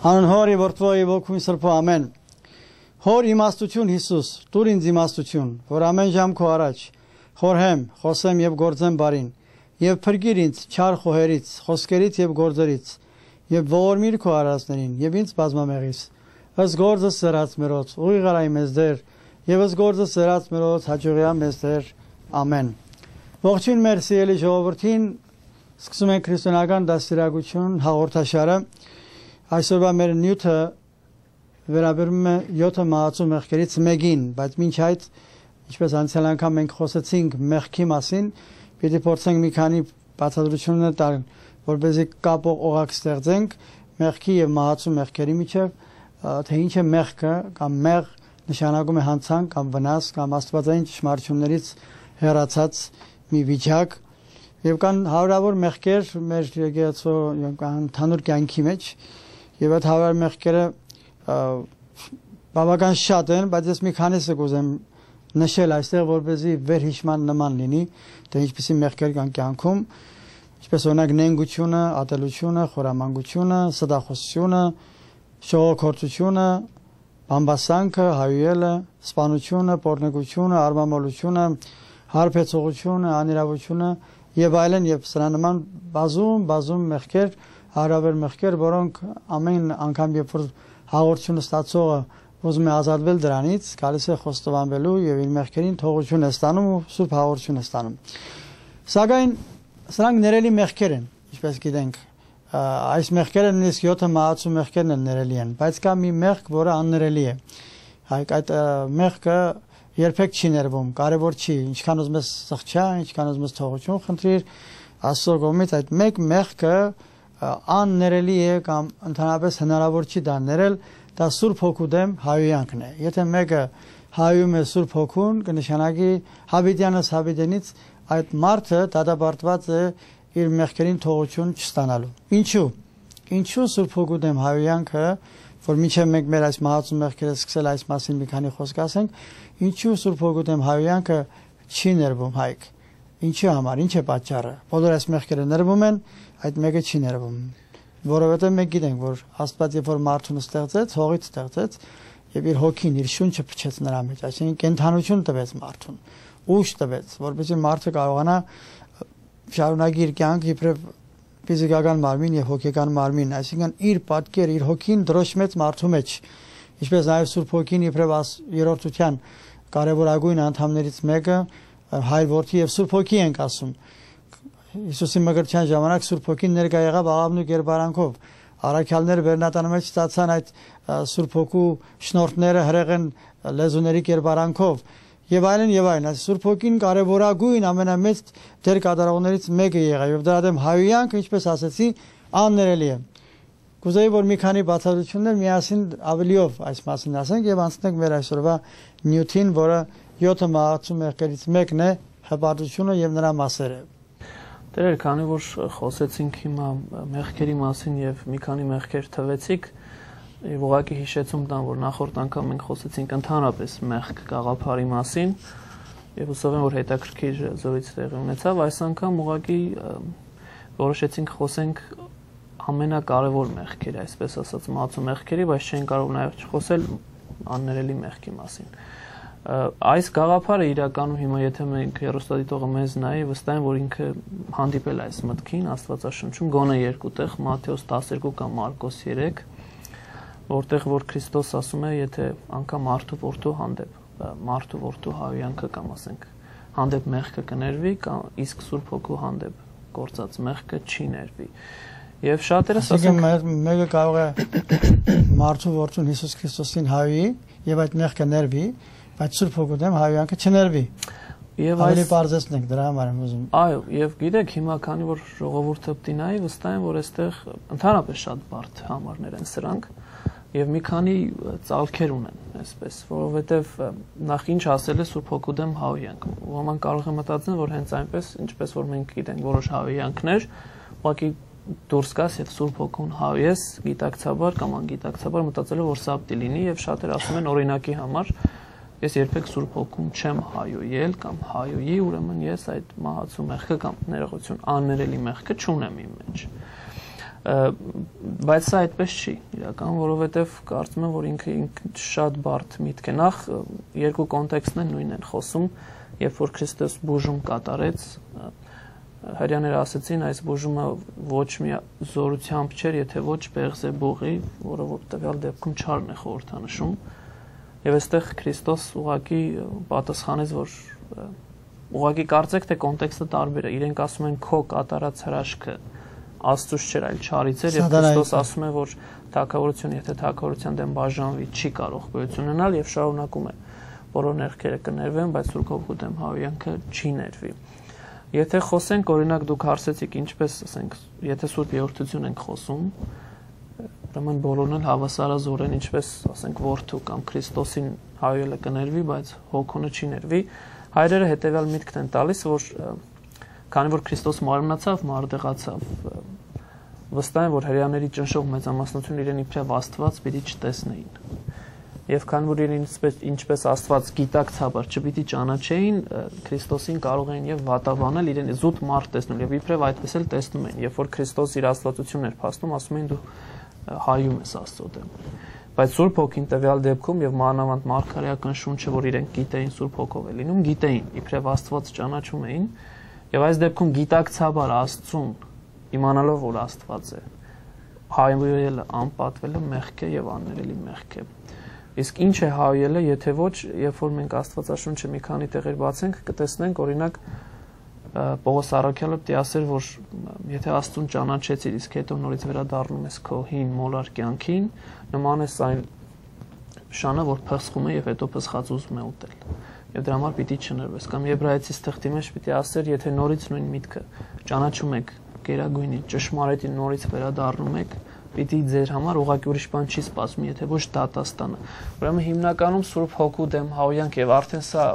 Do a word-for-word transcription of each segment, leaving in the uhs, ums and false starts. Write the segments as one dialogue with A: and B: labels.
A: Հանուն Հորի որդվոյի ոգուն սրբո ամեն։ Հոր իմաստություն Հիսուս, տուր ինձ իմաստություն, որ ամեն ժամ քո առաջ խորհեմ, խոսեմ եւ գործեմ բարին, եւ փրկիր ինձ չար խոհերից, խոսքերից եւ գործերից, եւ ողորմիր քո արածներին, եւ ինձ բազմամեղից։ Ըստ գործը սրած մերոց, ուղի գարայի մեզ դեր, եւ ըստ գործը սրած մերոց հաջողիա մեզ դեր։ Ամեն։ Ողջույն մեր սիրելի ժողովրդին, սկսում ենք քրիստոնեական դաստիարակություն հաղորդաշարը։ Այսօրվա մեր նյութը վերաբերում է յոթ մահացու մեղքերից մեկին, բայց մինչ այդ, ինչպես անցյալ անգամ մենք խոսեցինք մեղքի մասին, պիտի փորձենք մի քանի բացատրություններ տալ, որպեսզի կապող օղակ ստեղծենք մեղքի եւ մահացու մեղքերի միջեւ, թե ինչ է մեղքը, կամ մեղ նշանակում է հանցանք կամ վնաս կամ աստվածային ճշմարտություններից հեռացած մի վիճակ, եւ կան հարյուրավոր մեղքեր մեր եկեղեցու ընդհանուր կյանքի մեջ, եւ այդ հարյուրավոր մեղքերը բավական շատ են, բայց ես մի քանիսը կուզեմ նշել այստեղ, որպեսզի վերհիշման նման լինի, թե ինչպիսի մեղքեր կան կյանքում, ինչպես օրինակ նենգությունը, ատելությունը, խորամանկությունը, սդախոսությունը, շողոքորթությունը, բամբասանքը, հայուելը, սպանությունը, պոռնոգությունը, արմամոլությունը, հարբեցողությունը, անիրավությունը եւ այլն, եւ սրա նման բազում բազում մեղքեր, հարաբեր մեղքեր, որոնք ամեն անգամ երբ որ հաղորդությունը ստացողը ուզում է ազատվել դրանից, գալիս է խոստովանվելու եւ իր մեղքերին թողություն է ստանում ու սուրբ հաղորդություն է ստանում։ Սակայն սրանք ներելի մեղքեր են, ինչպես գիտենք, այս մեղքերը նույնիսկ յոթ մահացու մեղքերն են ներելի են, բայց կա մի մեղք, որը աններելի է։ Հայք այդ մեղքը երբեք չի ներվում, կարևոր չի, ինչքան ուզում ես սղճա, ինչքան ուզում ես թողություն խնդրիր, Աստծո կողմից այդ մեկ մեղքը աններելի է կամ ընդհանրապես հնարավոր չի դա ներել, դա Սուրբ Հոգու դեմ հայոյանքն է։ Եթե մեկը հայում է Սուրբ Հոգուն, կնշանակի հավիտյանս հավիտենից այդ մարդը դատապարտված է իր մեղքերին թողություն չստանալու։ Ինչու՞։ Ինչու Սուրբ Հոգու դեմ հայոյանքը, որ մինչև մենք մեր այս մահացու մեղքերը սկսել այս մասին մի քանի խոսք ասենք, ինչու Սուրբ Հոգու դեմ հայոյանքը չի ներվում հայք։ Ինչի համար, ինչ է պատճառը։ Բոլոր այս մեղքերը ներվում են, այդ մեկը չի ներվում։ Որովհետև մենք գիտենք, որ Աստված երբ որ մարդուն ստեղծեց, հողից ստեղծեց եւ իր հոգին, իր շունչը փչեց նրա մեջ, այսինքն կենթանություն տվեց մարդուն, ուժ տվեց, որպեսզի մարդը կարողանա շարունակի իր կյանքը իբրև ֆիզիկական մարմին եւ հոգեկան մարմին, այսինքն իր պատկեր, իր հոգին դրոշմեց մարդու մեջ, ինչպես նաեւ Սուրբ Հոգին իբրև երրորդության կարևորագույն անդամներից մեկը Հայր Որդի եւ Սուրբ Հոգի ենք ասում։ Հիսուսի մկրտչյան ժամանակ Սուրբ Հոգին ներկա եղավ աղավնու կերպարանքով։ Առաքյալները Բեռնատանը մեջ ստացան այդ Սուրբ Հոգու շնորհները հրեղեն լեզուների կերպարանքով եւ այլն եւ այլն։ Այս Սուրբ Հոգին կարևորագույն ամենամեծ դեր կատարողներից մեկը եղավ եւ դրա դեմ հայոյանքը, ինչպես ասեցի, աններելի է։ Կուզեի որ մի քանի բացատրություններ միասին ավելիով այս մասին ասենք եւ անցնենք մեր այսօրվա նյութին, որը յոթ մահացու մեղքերից մեկն է, հպարտությունը եւ նրա մասերը։
B: Տերեր, քանի որ խոսեցինք հիմա մեղքերի մասին եւ մի քանի մեղքեր թվեցիք, եւ ուղղակի հիշեցում տամ, որ նախորդ անգամ մենք խոսեցինք ընդհանրապես մեղք գաղափարի մասին եւ հուսով եմ, որ հետաքրքիր զրույց տեղի ունեցավ, այս անգամ ուղղակի որոշեցինք խոսենք ամենակարևոր մեղքերի, այսպես ասած, մահացու մեղքերի, բայց չեն կարող նաեւ չխոսել աններելի մեղքի մասին։ Այս գաղափարը իրականում հիմա եթե մենք հեռուստադիտողը մեզ նայի, վստահ եմ, որ ինքը հանդիպել է այս մտքին Աստվածաշնչում գոնե երկու տեղ, Մատթեոս տասներկու կամ Մարկոս երեք, որտեղ որ Քրիստոս ասում է, եթե անգամ մարդու որդու հանդեպ, մարդու որդու հայոյանքը կամ ասենք հանդեպ մեղքը կներվի, կամ իսկ Սուրբ Հոգու հանդեպ գործած մեղքը չի ներվի։ Եվ շատերս ասում
A: են մեկը կարող է մարդու որդուն Հիսուս Քրիստոսին հայի եւ այդ մեղքը ներվի, բայց Սուրբ Հոգու դեմ հայոյանքը չներվի։ Եվ այլի բարձրացնենք դրա համար եմ ուզում։
B: Այո, եւ գիտեք, հիմա քանի որ ժողովուրդը պիտի նայի, վստահ եմ, որ այստեղ ընդհանրապես շատ բարդ համարներ են սրանք եւ մի քանի ծալքեր ունեն, այսպես, որովհետեւ նախ ինչ ասել է Սուրբ Հոգու դեմ հայոյանք։ Ոմանք կարող են մտածել, որ հենց այնպես, ինչպես որ մենք գիտենք որոշ հայոյանքներ, ուղղակի դուրս գաս եւ Սուրբ Հոգուն հայես, գիտակցաբար կամ անգիտակցաբար մտածելով որ սա պիտի լինի եւ շատեր ասում են օրինակի համար ես երբեք Սուրբ Հոգուն չեմ հայոյել կամ հայոյի, ուրեմն ես այդ մահացու մեղքը կամ ներողություն աններելի մեղքը չունեմ իմ մեջ։ Բայց սա այդպես չի իրական, որովհետև կարծում եմ, որ ինքը շատ բարդ միտք է։ Նախ երկու կոնտեքստն նույնն են խոսում, երբ որ Քրիստոս բուժում կատարեց, հрьяաները ասեցին, այս բուժումը ոչ մի զորությամբ չէր, եթե ոչ Բեղզեբուղի, որը որ տվյալ դեպքում չարն է խորհրդանշում, եւ այստեղ Քրիստոս ուղղակի պատասխանեց, որ ուղղակի կարծեք, թե կոնտեքստը տարբեր է, իրենք ասում են քո կատարած հրաշքը Աստծուց չէր, այլ չարից էր, եւ Քրիստոս ասում է, որ թագավորությունը, եթե թագավորության դեմ բաժանվի, չի կարող գոյություն ունենալ եւ շարունակում է բոլոր ներքերը կներվեն, բայց Սուրբ Հոգու դեմ հավյանքը չի ներվի։ Եթե խոսենք, օրինակ դուք հարցեցիք, ինչպես, ասենք, եթե Սուրբ Երրորդություն ենք խոսում, ուրեմն բոլորն էլ հավասարազոր են, ինչպես, ասենք, որդու կամ Քրիստոսին հայելը կներվի, բայց հոգունը չի ներվի։ Հայրերը հետեւյալ միտքն են տալիս, որ քանի որ Քրիստոս մարմնացավ, մարդեղացավ, վստահ եմ, որ հрьяաների ճնշող մեծամասնությունը իրեն իբրև Աստված պիտի չտեսնեին։ Եվ քանի որ իրեն ինչպես Աստված գիտակցաբար չպիտի ճանաչեին, Քրիստոսին կարող էին եւ վատաբանել, իրեն զուտ մարդ տեսնել եւ իբրև այդպես էլ տեսնում են։ Երբ որ Քրիստոս իր աստվածությունն էր փաստում, ասում էին դու հայում ես Աստծո դեմ։ Բայց Սուրբ Հոգին տվյալ դեպքում եւ մանավանդ մարգարեական շունչը, որ իրենք գիտեին Սուրբ Հոգով է լինում, գիտեին, իբրև Աստված ճանաչում էին, եւ այս դեպքում գիտակցաբար Աստծուն իմանալով, որ Աստված է, հայելը անպատվելը մեղք է եւ աններելի մեղք է։ Իսկ ինչ է հայելը, եթե ոչ, երբ որ մենք Աստվածաշունչը մի քանի տեղեր բացենք, կտեսնենք, օրինակ Պողոս առաքյալը պիտի ասեր, որ եթե Աստծուն ճանաչեցիր, իսկ հետո նորից վերադառնում ես քո հին մոլար կյանքին, նման է այն շանը, որ փխսվում է եւ հետո փսխած ուզում է ուտել։ Եվ դրա համար պիտի չներվես։ Կամ Եբրայեցիս թղթի մեջ պիտի ասեր, եթե նորից նույն միտքը ճանաչում եք գերագույնի ճշմարիտին, նորից վերադառնում եք, պիտի ձեր համար ուղղակի ուրիշ բան չի սպասում, եթե ոչ դատաստանը։ Ուրեմն հիմնականում Սուրբ Հոգու դեմ հավյանք եւ արդեն սա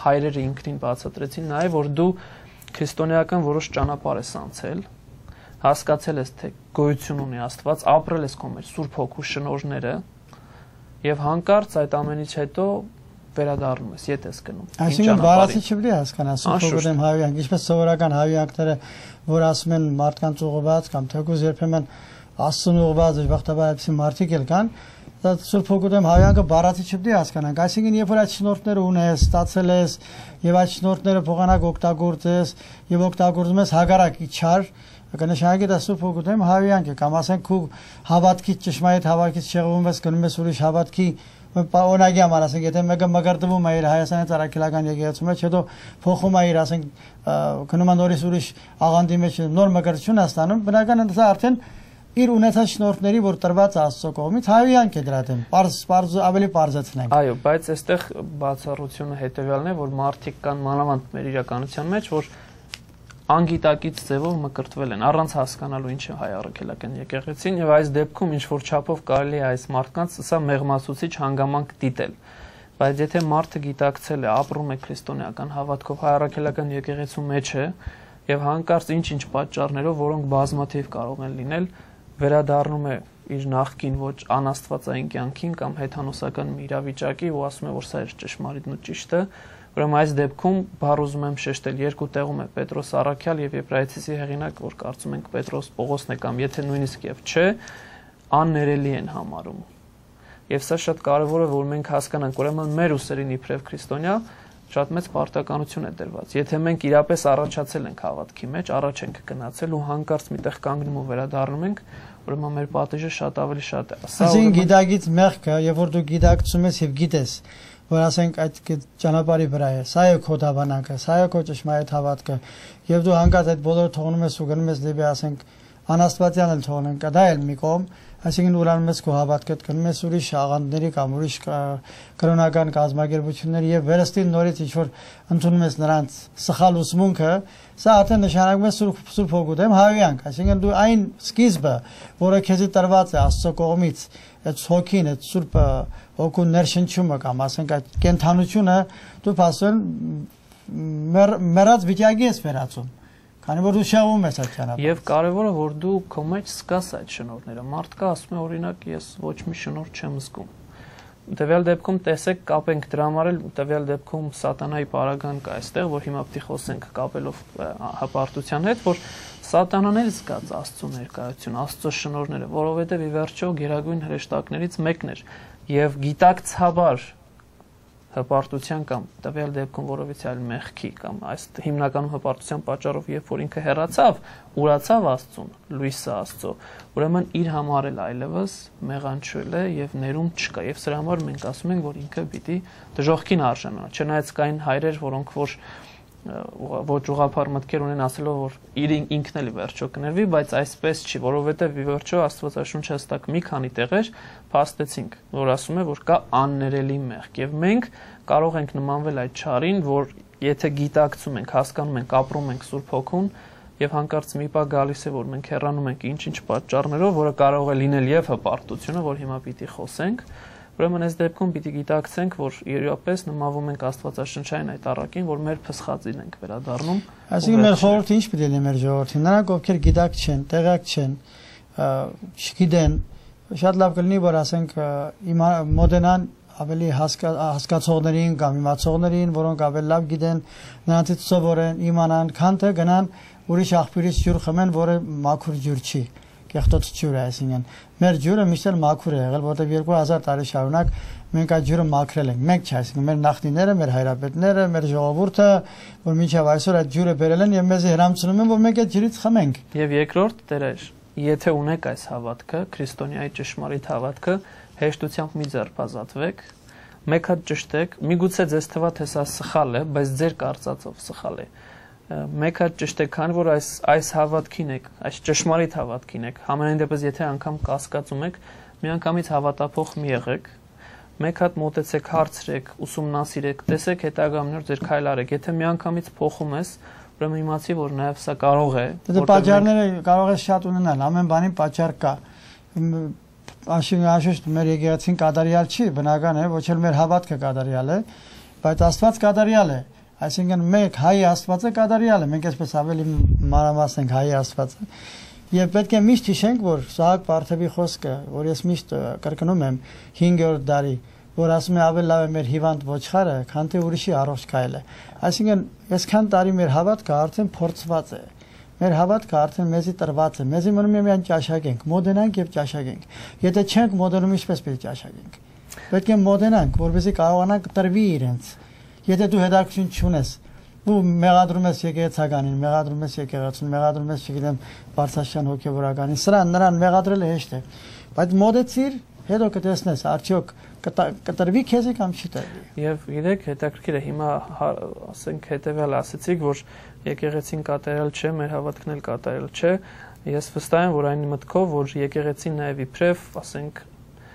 B: հայրերը ինքնին բացատրեցին նաեւ, որ դու քրիստոնեական որոշ ճանապարհ ես անցել, հասկացել ես, թե գոյություն ունի Աստված, ապրել ես քո մեջ Սուրբ Հոգու շնորհները եւ հանկարծ այդ ամենից հետո վերադառնում ես, ետ ես գնում։
A: Այսինքն բառացի չպետք է հասկանա Սուրբ Հոգու դեմ հավյանք, ինչպես սովորական հավյանքները, որ ասում են մարդկանց ուղղված կամ թեկուզ երբեմն Աստծուն ուղղված բախտաբար այդպիսի մարդիկ էլ կան, դա Սուրբ Հոգու դեմ հավյանքը բառացի չպետք է հասկանանք։ Այսինքն երբ որ այդ շնորհները ունես, ստացել ես եւ այդ շնորհները փոխանակ օգտագործես եւ օգտագործում ես հագարակի չար, կնշանակի դա Սուրբ Հոգու դեմ հավյանք է, կամ ասենք քու հավատքից ճշմարիտ հավատքից շեղվում ես, գնում ես ուրիշ հավատքի օրինակի համար, ասենք, եթե մեկը մգրտվում է իր Հայաստանի Ծառայքելական եկեղեցու մեջ, հետո փոխում է իր, ասենք, գնում է նորից ուրիշ աղանդի մեջ, նոր մգրտություն է ստանում, բնական է դա արդեն իր ունեցած շնորհների, որ տրված Աստծո կողմից հավյանք է դրա դեմ։ Պարզ, պարզ ավելի պարզեցնենք։
B: Այո, բայց այստեղ բացառությունը հետեւյալն է, որ մարդիկ կան մանավանդ մեր իրականության մեջ, որ անգիտակից ձևով մկրտվել են, առանց հասկանալու ինչ է հայ առաքելական եկեղեցին, եւ այս դեպքում ինչ որ չափով կարելի է այս մարդկանց սա մեղմացուցիչ հանգամանք դիտել։ Բայց եթե մարդը գիտակցել է, ապրում է քրիստոնեական հավատքով, հայ առաքելական եկեղեցու մեջ է եւ հանկարծ ինչ-ինչ պատճառներով, որոնք բազմաթիվ կարող են լինել, վերադառնում է իր նախկին ոչ անաստվածային կյանքին կամ հեթանոսական մի իրավիճակի ու ասում է, որ սա է ճշմարիտն ու ճիշտը, ուրեմն այս դեպքում բառ ուզում եմ շեշտել, երկու տեղում է Պետրոս առաքյալ եւ Եբրայեցիսի հեղինակ, որ կարծում ենք Պետրոս Պողոսն է կամ եթե նույնիսկ եւ չէ, աններելի են համարում։ Եվ սա շատ կարեւոր է, որ մենք հասկանանք, ուրեմն մեր ուսերին իբրև քրիստոնյա շատ մեծ պարտականություն է դրված։ Եթե մենք իրապես առաջացել ենք հավատքի մեջ, առաջ ենք գնացել ու հանկարծ միտեղ կանգնում ու վերադառնում ենք, ուրեմն մեր պատիժը շատ ավելի շատ է։
A: Այսինքն գիտակից մեղքը, երբ որ դու գիտակցում ես եւ գիտես, որ ասենք այդ ճանապարհի վրա է, սա է քո դավանակը, սա է քո ճշմարիտ հավատքը, եւ դու հանկարծ այդ բոլորը թողնում ես ու գնում ես դեպի, ասենք, անաստվածյան էլ թողնենք, դա էլ մի կողմ, այսինքն ուրանում ես քո հավատքը, գնում ես ուրիշ աղանդների կամ ուրիշ կրոնական կազմակերպությունների եւ վերստին նորից ինչ որ ընդունում ես նրանց սխալ ուսմունքը, սա արդեն նշանակում է Սուրբ Սուրբ Հոգու դեմ հավյանք, այսինքն դու այն սկիզբը, որը քեզի տրված է Աստծո կողմից, այդ հոգին, այդ Սուրբ Հոգու ներշնչումը կամ ասենք այդ կենթանությունը դու փաստորեն մեռած վիճակի ես վերածում, քանի որ դու շեղվում ես այդ ճանապարհով։
B: Եվ կարևորը որ դու քո մեջ զգաս այդ շնորհները։ Մարդկա ասում է օրինակ ես ոչ մի շնորհ չեմ զգում։ տվյալ դեպքում տեսեք կապենք դրա համար էլ տվյալ դեպքում սատանայի պարագան կա այստեղ, որ հիմա պետք է խոսենք կապելով հպարտության հետ, որ սատանան էլ զգաց Աստծո ներկայություն, Աստծո շնորհները, որովհետև ի վերջո գերագույն հրեշտակներից մեկն էր եւ գիտակցաբար հպարտության կամ տվյալ դեպքում որովից այլ մեղքի կամ այս հիմնականում հպարտության պատճառով երբ որ ինքը հեռացավ, ուրացավ Աստծուն, լույսը Աստծո, ուրեմն իր համար էլ այլևս մեղանչել է եւ ներում չկա եւ սրա համար մենք ասում ենք, որ ինքը պիտի դժոխքին արժանանա, չնայած կային հայրեր, որոնք որ ոչ ուղղափառ մտքեր ունեն ասելով, որ իր ինքն էլ վերջո կներվի, բայց այսպես չի, որովհետև ի վերջո Աստվածաշունչը հստակ մի քանի տեղեր փաստեցինք, որ ասում է, որ կա աններելի մեղք եւ մենք կարող ենք նմանվել այդ չարին, որ եթե գիտակցում ենք, հասկանում ենք, ապրում ենք Սուրբ Հոգուն եւ հանկարծ մի բա գալիս է, որ մենք հեռանում ենք ինչ-ինչ պատճառներով, որը կարող է լինել եւ հպարտությունը, որ հիմա պիտի խոսենք, ուրեմն այս դեպքում պիտի գիտակցենք, որ իրապես նմանվում ենք Աստվածաշնչային այդ առակին, որ մեր փսխածին ենք վերադառնում։
A: Այսինքն մեր խորհուրդը ինչ պետք է լինի մեր ժողովրդին, նրանք ովքեր գիտակ չեն, տեղյակ չեն, չգիտեն, շատ լավ կլինի, որ ասենք մոդենան ավելի հասկացողներին կամ իմացողներին, որոնք ավելի լավ գիտեն, նրանցից սովորեն, իմանան, քան թե գնան ուրիշ աղբյուրից ջուր խմեն, որը մաքուր ջուր չի, կեղտոտ ջուր է, այսինքն մեր ջուրը միշտ էլ մաքուր է եղել, որտեղ երկու հազար տարի շարունակ մենք այդ ջուրը մաքրել ենք, մենք չէ, այսինքն մեր նախնիները, մեր հայրապետները, մեր ժողովուրդը, որ մինչև այսօր այդ ջուրը բերել են եւ մեզ հրամցնում են, որ մենք այդ ջրից խմենք։
B: Եվ երկրորդ դերեր, եթե ունեք այս հավատքը, քրիստոնյայի ճշմարիտ հավատքը, հեշտությամբ մի ձերբազատվեք, մեկ հատ ճշտեք, միգուցե ձեզ թվա թե սա սխալ է, բայց ձեր կարծածով սխալ է։ Մեկ հատ ճշտեք, քանի որ այս այս հավատքին եք, այս ճշմարիտ հավատքին եք, համենայն դեպս եթե անգամ կասկածում եք, միանգամից հավատափող մի եղեք, մեկ հատ մոտեցեք, հարցրեք, ուսումնասիրեք, տեսեք հետագամներ ձեր քայլ արեք, եթե միանգամից փոխում ես, ուրեմն իմացի, որ նաև սա կարող է։
A: Դե պատճառները կարող է շատ ունենալ, ամեն բանի պատճառ կա։ Անշուշտ մեր եկեղեցին կատարյալ չի, բնական է, ոչ էլ մեր հավատքը կատարյալ է, բայց Աստված կատարյալ է։ Այսինքն մեկ հայ Աստվածը կատարյալ է, մենք այսպես ավելի մանրամասնենք հայ Աստվածը։ Եվ պետք է միշտ հիշենք, որ Սահակ Պարթևի խոսքը, որ ես միշտ կրկնում եմ հինգերորդ դարի, որ ասում է ավելի լավ է մեր հիվանդ ոչխարը, քան թե ուրիշի առողջ քայլը։ Այսինքն այսքան տարի մեր հավատքը արդեն փորձված է։ Մեր հավատքը արդեն մեզի տրված է։ Մեզի մնում է միայն ճաշակենք, մոդենանք եւ ճաշակենք։ Եթե չենք մոդենում, ինչպես պետք է ճաշակենք։ Պետք է մոդենանք, որովհետեւ կարողանանք տրվի իրենց։ Եթե դու հետաքրքրություն չունես, ու մեղադրում ես եկեղեցականին, մեղադրում ես եկեղեցուն, մեղադրում ես, չգիտեմ, Բարձրաշան հոգևորականին, սրան նրան մեղադրելը հեշտ է, բայց մոդեցիր, հետո կտեսնես, արդյոք կտրվի քեզի կամ չի տրվի։
B: Եվ գիտեք, հետաքրքիր է, հիմա ասենք հետևյալ ասեցիք, որ եկեղեցին կատարյալ չէ, մեր հավատքն էլ կատարյալ չէ, ես վստահ եմ, որ այն մտքով, որ եկեղեցին նաև իբրև, ասենք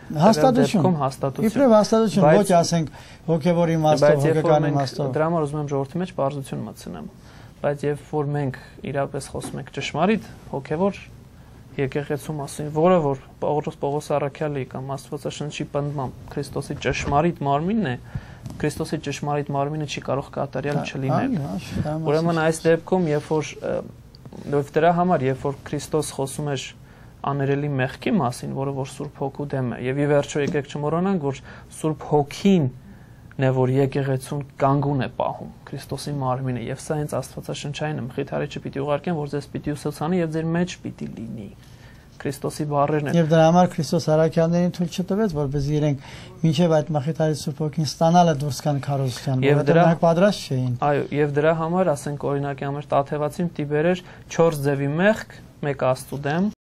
A: հաստատություն,
B: հաստատություն։
A: իբրև հաստատություն, ոչ ասենք հոգևոր իմաստով, հոգեկան իմաստով։
B: Դրա համար ուզում եմ ժողովրդի մեջ բարձրություն մտցնեմ, բայց երբ որ մենք իրապես խոսում ենք ճշմարիտ հոգևոր եկեղեցու մասին, որը որ Պողոս Պողոս Առաքյալի կամ Աստվածաշնչի պնդմամբ Քրիստոսի ճշմարիտ մարմինն է, Քրիստոսի ճշմարիտ մարմինը չի կարող կատարյալ չլինել։ Ուրեմն այս դեպքում, երբ որ դրա համար, երբ որ Քրիստոս խոսում էր աներելի մեղքի մասին, որը որ Սուրբ Հոգու դեմ է, եւ ի վերջո եկեք չմոռանանք, որ Սուրբ Հոգին է, որ եկեղեցուն կանգուն է պահում Քրիստոսի մարմինը, եւ սա հենց Աստվածաշնչային մխիթարիչը պիտի ուղարկեն, որ ձեզ պիտի ուսուցանի եւ ձեր մեջ պիտի լինի Քրիստոսի բառերն են։
A: Եվ դրա համար Քրիստոս առաքյալներին թույլ չտվեց, որպեսզի իրենք մինչև այդ մխիթարիչ Սուրբ Հոգին ստանալը դուրս գան քարոզության, որովհետեւ նրանք պատրաստ չէին։
B: Այո, եւ դրա համար, ասենք օրինակի համար Տաթևացին պիտի բերեր չորս ձևի մեղք, մեկ Աստծո դեմ,